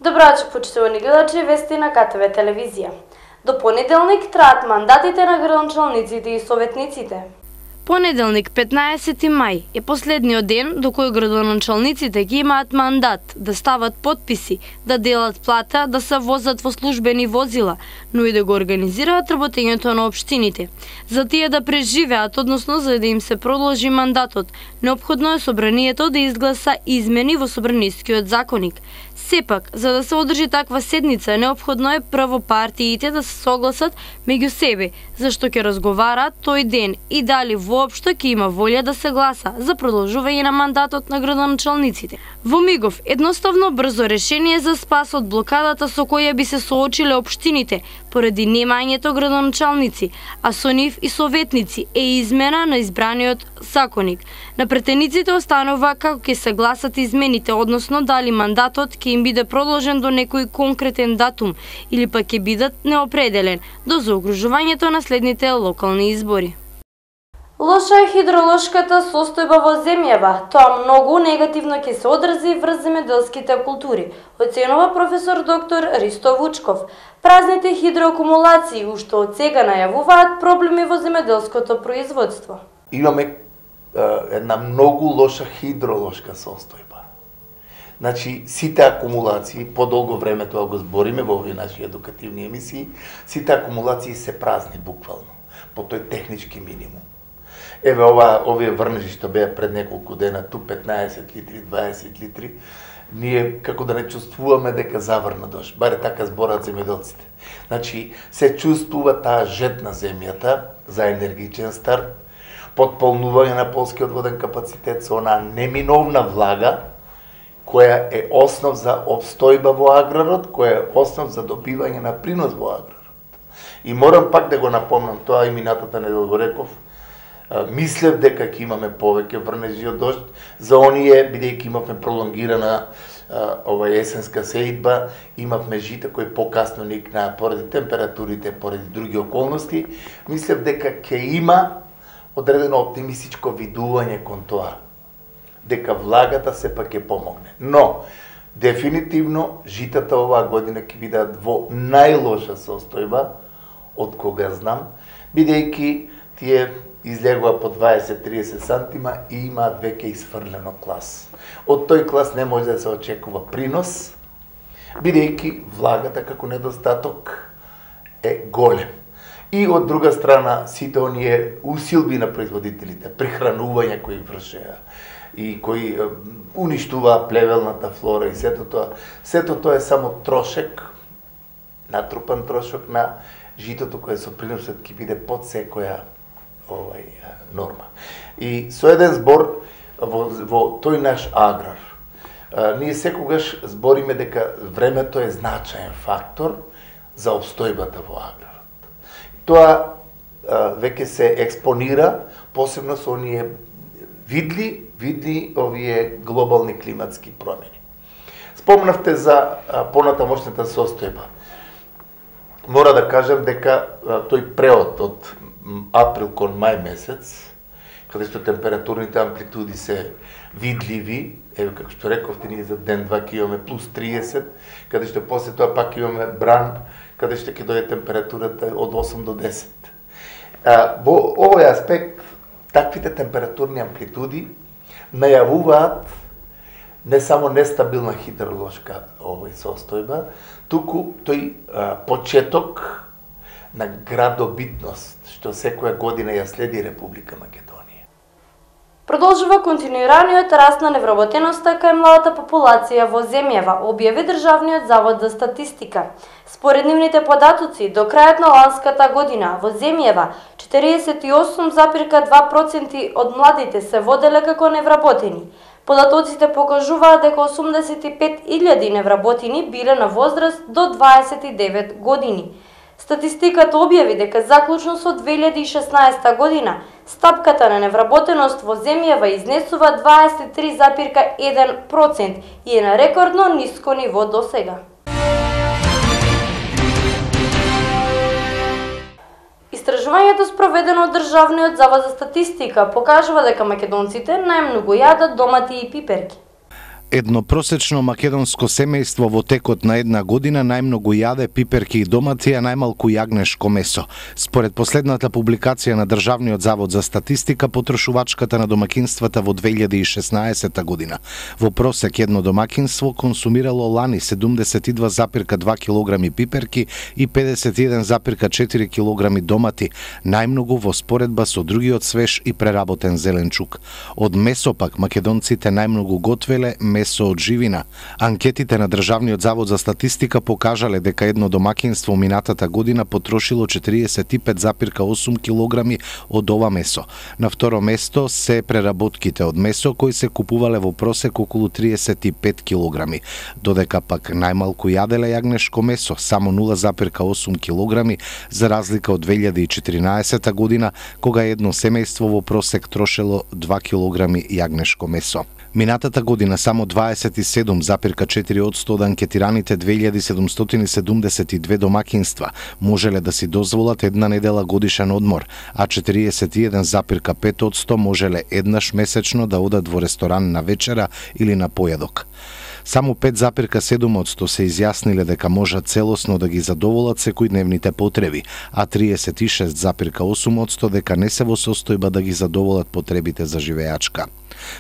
Добро вечер, почитувани гледачи, вести на КТВ телевизија. До понеделник траат мандатите на градоначалниците и советниците. Понеделник, 15 мај, е последниот ден до кој градоначалниците ги имаат мандат да стават подписи, да делат плата, да се возат во службени возила, но и да го организираат работењето на општините. За тие да преживеат, односно за да им се продолжи мандатот, неопходно е собранието да изгласа измени во Собранискиот законник. Сепак, за да се одржи таква седница, неопходно е прво партиите да се согласат меѓу себе, зашто ќе разговараат тој ден и дали воопшто ќе има волја да се гласа за продолжување на мандатот на градоначалниците. Во мигов, едноставно брзо решение за спас од блокадата со која би се соочиле општините поради немањето градоначалници, а со нив и советници е измена на избраниот законник. На претениците останува како ќе се гласат измените, односно дали мандатот ќе им биде продолжен до некој конкретен датум или пак ќе бидат неопределен до заокружувањето на следните локални избори. Лоша е хидролошката состојба во земјава. Тоа многу негативно ќе се одрази врз земјоделските култури, оценува професор доктор Ристо Вучков. Празните хидроакумулации уште од сега најавуваат проблеми во земјоделското производство. Имаме една многу лоша хидролошка состојба. Значи, сите акумулации, по-долго време тоа го збориме во овие наши едукативни емисии, сите акумулации се празни буквално, по тој технички минимум. Еве овие врнежи што беа пред неколку дена, ту 15 литри, 20 литри, ние како да не чувствуваме дека заврна дожд, баре така збораат земјоделците. Значи, се чувствува таа жет на земјата за енергичен старт, потполнување на полскиот воден капацитет со онаа неминовна влага, која е основ за обстојба во аграрот, која е основ за добивање на принос во аграрот. И морам пак да го напомнам, тоа и минатата недела го реков, мислев дека ќе имаме повеќе врнежи од дожд, за оние, бидејќи имавме пролонгирана есенска сеидба, имавме жита кои покасно никнаа поради температурите, поради други околности, мислев дека ќе има одредено оптимистичко видување кон тоа, дека влагата сепак ќе помогне. Но, дефинитивно, житата оваа година ќе бидат во најлоша состојба од кога знам, бидејќи тие излегува по 20-30 сантима и имаат веќе изфрлено клас. Од тој клас не може да се очекува принос, бидејќи влагата како недостаток е голем. И од друга страна, сите оние усилби на производителите, прихранување кои вршеа и кои уништуваа плевелната флора и сето тоа е само трошек, натрупан трошок на житото кое со приносот ќе биде под секоја норма. И со еден збор во тој наш аграр, ние секогаш збориме дека времето е значаен фактор за обстојбата во аграрот. Тоа веќе се експонира, посебно со оние видни овие глобални климатски промени. Спомнавте за понатамошната состојба. Мора да кажам дека тој преод од април кон мај месец, каде што температурните амплитуди се видливи, еве како што рековте, ние за ден-два ќе имаме плюс 30, каде што после тоа пак имаме бран, каде што ќе дојде температурата од 8 до 10. Во овој аспект, таквите температурни амплитуди најавуваат не само нестабилна хидролошка состојба, туку тој почеток на градобитност, што секоја година ја следи Република Македонија. Продолжува континуираниот раст на невработеноста кај младата популација во земјава, објави Државниот завод за статистика. Според нивните податоци, до крајот на ланската година во земјава 48,2% од младите се воделе како невработени. Податоците покажуваат дека 85.000 невработени биле на возраст до 29 години. Статистиката објави дека заклучно со 2016 година стапката на невработеност во земјава изнесува 23,1% и е на рекордно ниско ниво досега. Истражувањето спроведено од Државниот завод за статистика покажува дека македонците најмногу јадат домати и пиперки. Едно просечно македонско семејство во текот на една година најмногу јаде пиперки и домати, а најмалку јагнешко месо. Според последната публикација на Државниот завод за статистика, потрошувачката на домакинствата во 2016 година во просек едно домакинство консумирало лани 72,2 килограми пиперки и 51,4 килограми домати, најмногу во споредба со другиот свеж и преработен зеленчук. Од месо пак македонците најмногу готвеле месо од живина. Анкетите на Државниот завод за статистика покажале дека едно домакинство минатата година потрошило 45,8 килограми од ова месо. На второ место се преработките од месо кои се купувале во просек околу 35 килограми, додека пак најмалку јаделе јагнешко месо, само 0,8 килограми, за разлика од 2014 година, кога едно семејство во просек трошело 2 килограми јагнешко месо. Минатата година само 27,4% од анкетираните 2772 домакинства можеле да си дозволат една недела годишен одмор, а 41,5% можеле еднаш месечно да одат во ресторан на вечера или на појадок. Само 5,7% се изјасниле дека можат целосно да ги задоволат секојдневните потреби, а 36,8% дека не се во состојба да ги задоволат потребите за живеачка.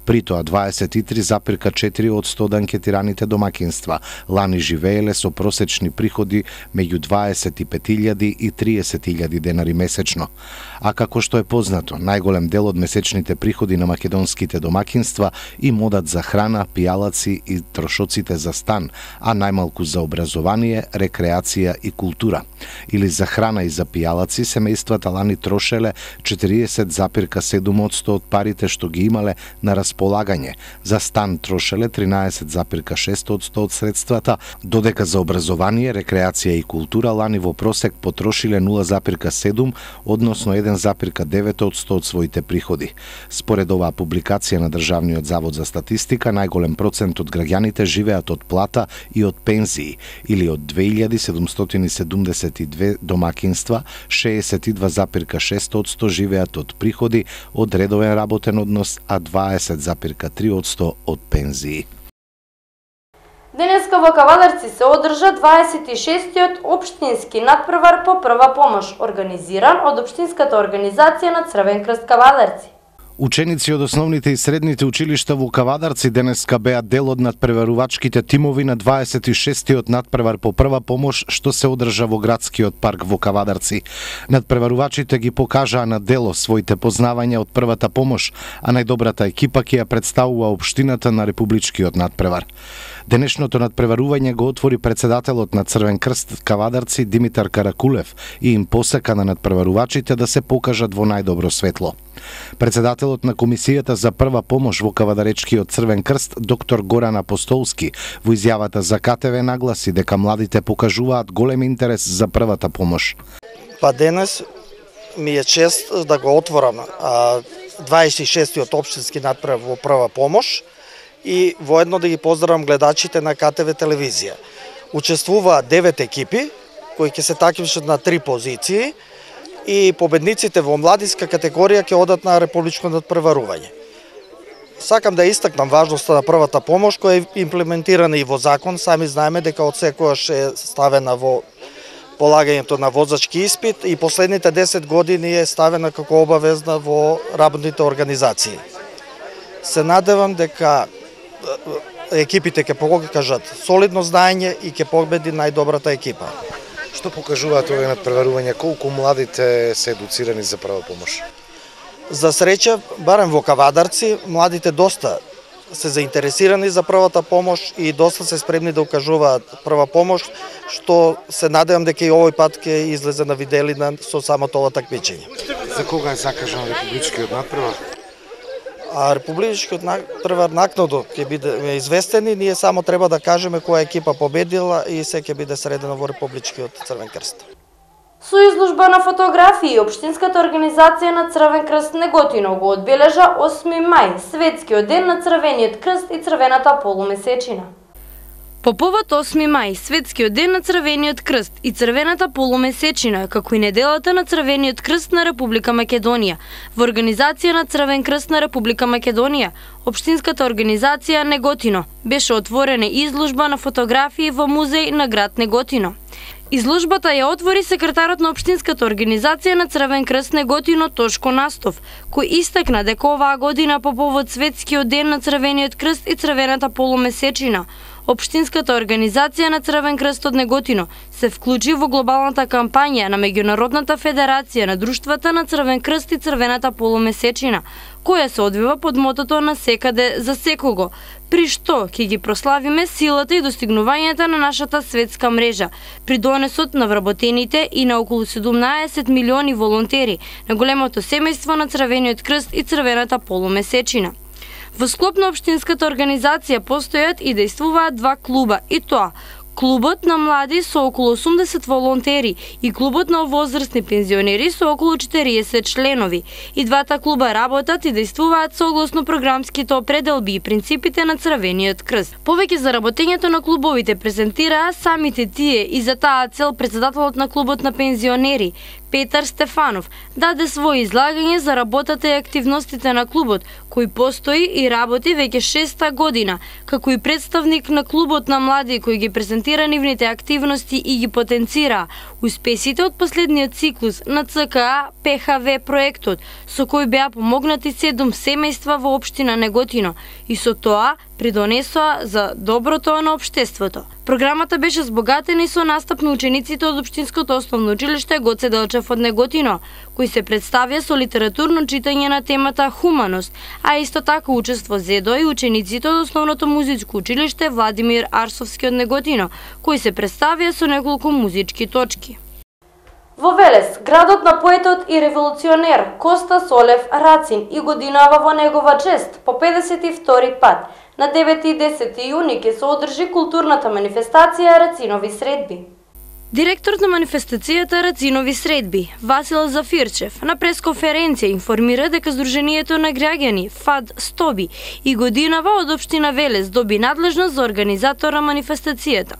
При тоа 23,4% од анкетираните домакинства лани живееле со просечни приходи меѓу 25.000 и 30.000 денари месечно. А како што е познато, најголем дел од месечните приходи на македонските домакинства им одат за храна, пијалаци и трошоците за стан, а најмалку за образование, рекреација и култура. Или за храна и за пијалаци семејствата лани трошеле 40,7% од парите што ги имале на располагање. За стан трошеле 13,6% од средствата, додека за образование, рекреација и култура лани во просек потрошиле 0,7, односно 1,9% од своите приходи. Според оваа публикација на Државниот завод за статистика, најголем процент од граѓаните живеат од плата и од пензии, или од 2772 домакинства, 62,6% живеат од приходи од редовен работен однос, а 20,3% од пензии. Денеска во Кавадарци се одржа 26-тиот општински надпревар по прва помош, организиран од Општинската организација на Црвен крст Кавадарци. Ученици од основните и средните училишта во Кавадарци денеска беа дел од надпреварувачките тимови на 26-тиот надпревар по прва помош што се одржа во градскиот парк во Кавадарци. Надпреварувачите ги покажаа на дело своите познавања од првата помош, а најдобрата екипа ќе ја представува општината на републичкиот надпревар. Денешното надпреварување го отвори председателот на Црвен крст Кавадарци Димитар Каракулев и им посека на надпреварувачите да се покажат во најдобро светло. Председателот на Комисијата за прва помош во Кавадаречкиот Црвен крст, доктор Горан Апостолски, во изјавата за КТВ нагласи дека младите покажуваат голем интерес за првата помош. Па денес ми е чест да го отворам 26-тиот општински надпревар во прва помош и воедно да ги поздравам гледачите на КТВ телевизија. Учествуваат 9 екипи кои ќе се такмичат на 3 позиции и победниците во младинска категорија ќе одат на републичко надпреварување. Сакам да истакнам важноста на првата помош која е имплементирана и во закон. Сами знаеме дека од секојаш е ставена во полагањето на возачки испит и последните 10 години е ставена како обавезна во работните организации. Се надевам дека екипите ќе покажат солидно знаење и ќе победи најдобрата екипа. Што покажуваат овие надпреварувања? Колку младите се едуцирани за прва помош? За среќа, барем во Кавадарци, младите доста се заинтересирани за првата помош и доста се спремни да укажуваат прва помош, што се надевам дека и овој пат ќе излезе на виделина со самото ова такмичење. За кога е закажан републичкиот надпревар? А републичкиот надпревар накнадо ќе биде известен и ние само треба да кажеме која екипа победила и се ќе биде средена во републичкиот Црвен крст. Со изложба на фотографии, Општинската организација на Црвен крст Неготино го одбележа 8 мај, светскиот ден на Црвениот крст и Црвената полумесечина. По повод 8 мај, Светскиот ден на Црвениот крст и Црвената полумесечина, како и неделата на Црвениот крст на Република Македонија, во организација на Црвен крст на Република Македонија, општинската организација Неготино, беше отворена изложба на фотографии во музеј на град Неготино. Изложбата ја отвори секретарот на општинската организација на Црвен крст Неготино Тошко Настов, кој истакна дека оваа година по повод Светскиот ден на Црвениот крст и Црвената полумесечина, општинската организација на Црвен крст од Неготино се вклучи во глобалната кампања на Меѓународната федерација на друштвата на Црвен крст и Црвената полумесечина, која се одвива под мотото на секаде за секого, при што ќе ги прославиме силата и достигнувањата на нашата светска мрежа, при донесот на вработените и на околу 17 милиони волонтери на големото семејство на Црвениот крст и Црвената полумесечина. Во склоп на општинската организација постојат и действуваат два клуба, и тоа клубот на млади со околу 80 волонтери и клубот на возрастни пензионери со околу 40 членови. И двата клуба работат и действуваат согласно програмските определби и принципите на Црвениот крст. Повеќе за работењето на клубовите презентираа самите тие и за таа цел председателот на клубот на пензионери Петар Стефанов даде свој излагање за работата и активностите на клубот, кој постои и работи веќе 6-та година, како и представник на клубот на млади кој ги презентира нивните активности и ги потенцира успесите од последниот циклус на ЦКА ПХВ проектот, со кој беа помогнати 7 семејства во општина Неготино и со тоа придонесоа за доброто на општеството. Програмата беше збогатена и со настап на учениците од Општинското основно училиште Гоце Делчев од Неготино, кој се представија со литературно читање на темата хуманост, а исто така учество зедо и учениците од Основното музичко училиште Владимир Арсовски од Неготино, кој се представија со неколку музички точки. Во Велес, градот на поетот и револуционер Коста Солев Рацин и годинава во негова чест по 52 пат. На 9 и 10 јуни ќе се одржи културната манифестација Рацинови средби. Директорот на манифестацијата Рацинови средби, Васил Зафирчев, на пресконференција информира дека Сдруженијето на граѓани ФАД Стоби и годинава од општина Велес доби надлежност за организатор на манифестацијата.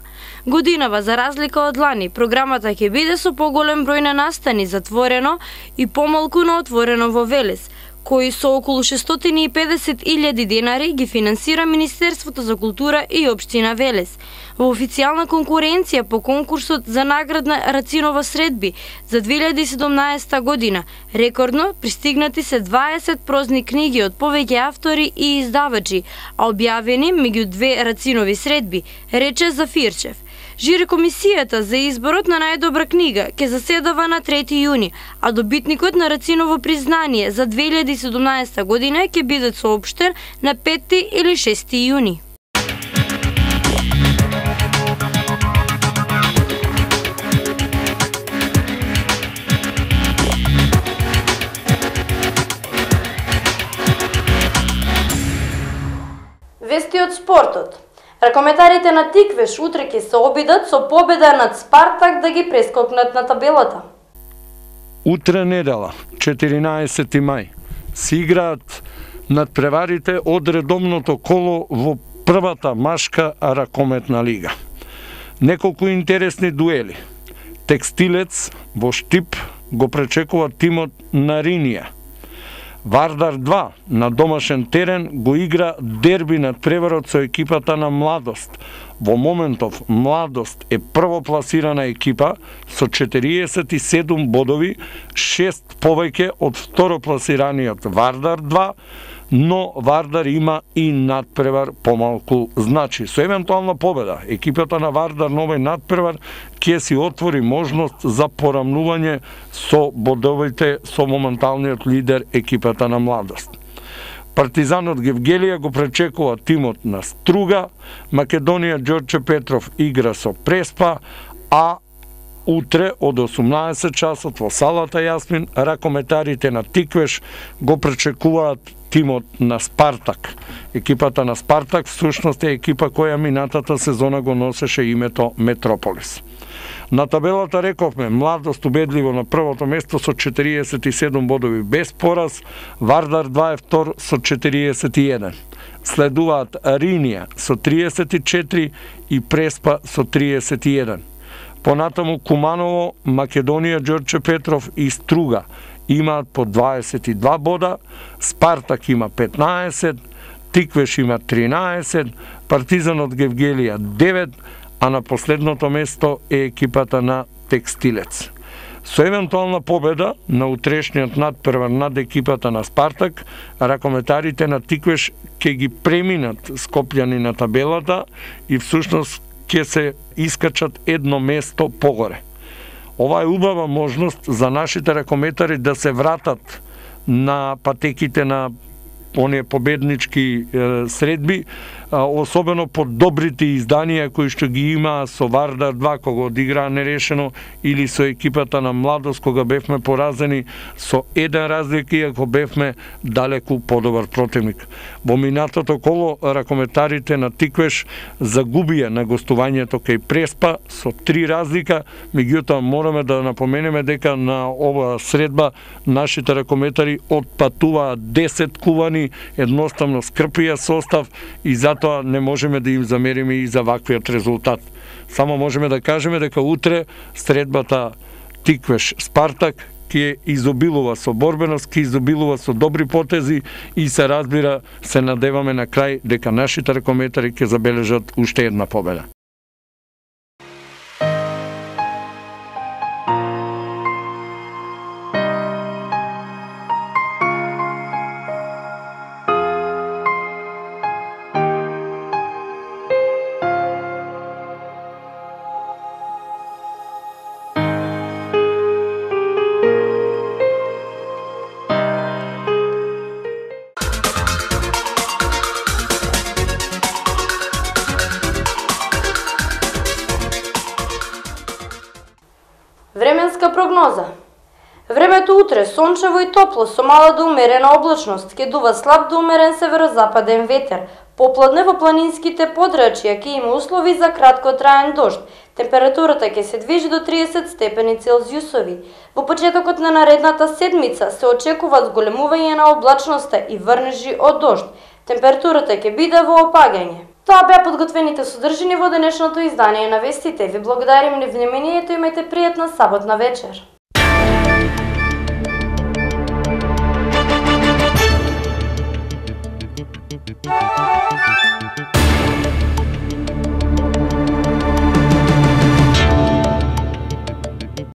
Годинава, за разлика од лани, програмата ќе биде со поголем број на настани затворено и помалку на отворено во Велес, кои со околу 650.000 денари ги финансира Министерството за култура и општина Велес. Во официјална конкуренција по конкурсот за наградна Рацинова средби за 2017 година, рекордно пристигнати се 20 прозни книги од повеќе автори и издавачи, а објавени меѓу две Рацинови средби, рече Зафирчев. Жири комисијата за изборот на најдобра книга ќе заседава на 3 јуни, а добитникот на Рациново признание за 2017 година ќе биде соопштен на 5 или 6 јуни. Вести од спортот. Ракометарите на Тиквеш утре ќе се обидат со победа над Спартак да ги прескокнат на табелата. Утре недела, 14 мај, се играат надпреварите од редовното коло во првата машка ракометна лига. Неколку интересни дуели. Текстилец во Штип го пречекува тимот на Ринија. Вардар 2 на домашен терен го игра дерби над преварот со екипата на Младост. Во моментов Младост е првопласирана екипа со 47 бодови, 6 повеќе од второпласираниот Вардар 2, но Вардар има и надпревар помалку. Значи, со евентуална победа, екипата на Вардар на овој надпревар ќе си отвори можност за порамнување со бодовите со моменталниот лидер екипата на Младост. Партизанот Гевгелија го пречекува тимот на Струга, Македонија Ѓорче Петров игра со Преспа, а утре од 18 часот во салата Јасмин ракометарите на Тиквеш го пречекуваат тимот на Спартак. Екипата на Спартак всушност е екипа која минатата сезона го носеше името Метрополис. На табелата рековме Младост убедливо на првото место со 47 бодови без пораз, Вардар 2 е втор со 41. Следуваат Ринија со 34 и Преспа со 31. Понатаму Куманово, Македонија, Ѓорче Петров и Струга имаат по 22 бода, Спартак има 15, Тиквеш има 13, Партизан од Гевгелија 9, а на последното место е екипата на Текстилец. Со евентуална победа на утрешниот надпревар над екипата на Спартак, ракометарите на Тиквеш ќе ги преминат Скопјани на табелата и всушност ќе се искачат едно место погоре. Ова е убава можност за нашите ракометари да се вратат на патеките на оние победнички средби, особено под добрите изданија кои што ги има со Вардар 2 кога одиграа нерешено или со екипата на Младост кога бевме поразени со еден разлика иако бевме далеку подобар противник. Во минатото коло ракометарите на Тиквеш загубија на гостувањето кај Преспа со 3 разлика, меѓутоа мораме да напоменеме дека на оваа средба нашите ракометари отпатуваат 10 кувани, едноставно скрпија состав и затоа не можеме да им замериме и за ваквиот резултат. Само можеме да кажеме дека утре средбата Тиквеш Спартак ќе изобилува со борбеност, ќе изобилува со добри потези и се разбира, се надеваме на крај дека нашите ракометари ќе забележат уште една победа. Временска прогноза. Времето утре сончево и топло со мала до умерена облачност, ќе дува слаб до умерен северозападен ветер. Попладне во планинските подрачја ќе има услови за краткотраен дожд. Температурата ќе се движи до 30 степени Целзиусови. Во почетокот на наредната седмица се очекува зголемување на облачноста и врнежи од дожд. Температурата ќе биде во опагање. Тоа беа подготвените содржини во денешното издание на вестите. Ви благодарим на вниманието, имајте пријатна саботна вечер.